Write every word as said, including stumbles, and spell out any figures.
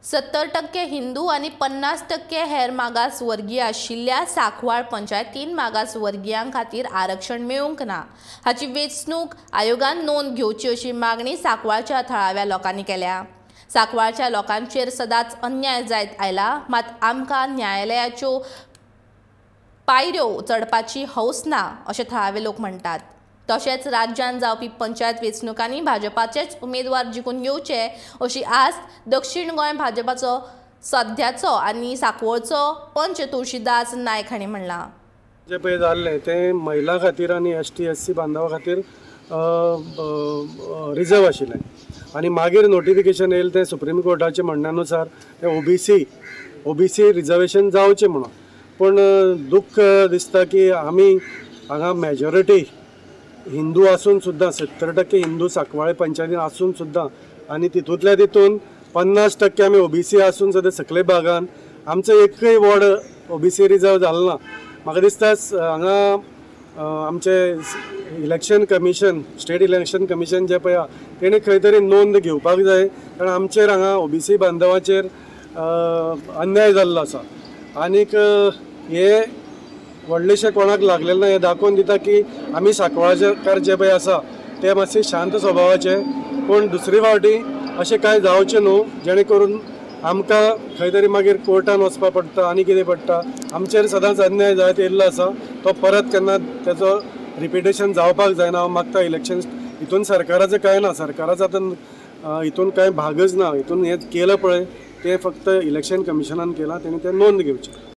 सत्तर टक्के हिंदू आनी पन्नास टक्के हेर मागास वर्गीय आशिल्ल्या सांकवाळ पंचायतीन मागास वर्गीयां खातीर आरक्षण मेळूंक ना हाची वेंचणूक आयोगान नोंद घेवची अशी मागणी सांकवाळच्या थळाव्या लोकांनी केल्या। सांकवाळच्या लोकांचेर सदांच अन्याय जायत आयला, मात आमकां न्यायालयाच्यो पायऱ्यो चडपाची हौस ना अशें थळावे लोक म्हणटात। तशेंच राज्यांत जावपी पंचायत वेंचणुकांनी भाजपाचेच उमेदवार जिखून येवचे अशी आस्त दक्षिण गोंय भाजपाचो सध्याचो आनी सांकवाळचो पंच तुळशीदास नायक हांणी म्हणलां। जे पळय जाल्लें तें महिला खातीर आनी एस टी एस सी बांधवा खातीर रिजर्व आशिल्लें आनी मागीर नोटिफिकेशन येयलें तें सुप्रीम कोर्टाच्या म्हणण्यानुसार तें O B C O B C reservation जावचें म्हणून। पूण दुख्ख दिसता की आमी हांगा मेजॉरिटी हिंदू आसून सुद्दां सत्तर टक्के हिंदू सांकवाळे पंचायतीन आसून सुद्दां आनी तितूंतल्या तितून पन्नास टक्के आमी ओ बी सी आसून सुद्दां सकले भागान आमचो एकय ward O B C reserve जालो ना। म्हाका दिसता हांगा आमचे election commission, state election commission जें पळय आहा तेणें खंय तरी नोंद घेवपाक जाय, कारण आमचेर हांगा ओ बी सी बांधवाचेर अन्याय जाल्लो आसा आनीक हे व्हडलेशें कोणाक लागलेलें ना। हें दाखोवन दिता की आमी सांकवाळकार जे पळय आसा ते मातशे शांत स्वभावाचे, पूण दुसरे फावटी अशें कांय जावचें न्हू जेणे करून आमकां खंय तरी मागीर कोर्टान वचपा पडटा आनी कितें पडटा। आमचेर सदांच अन्याय जायत येयल्लो आसा, तो परत केन्ना तेचो रिपिटेशन जावपाक जायना। हांव मागता इलेक्शन हितून सरकाराचें कांय ना, सरकाराचो आतां हितून कांय भागच ना, हितून हें केलां पळय तें फक्त इलेक्शन कमिशनान केलां, तेणें तें नोंद घेवचें।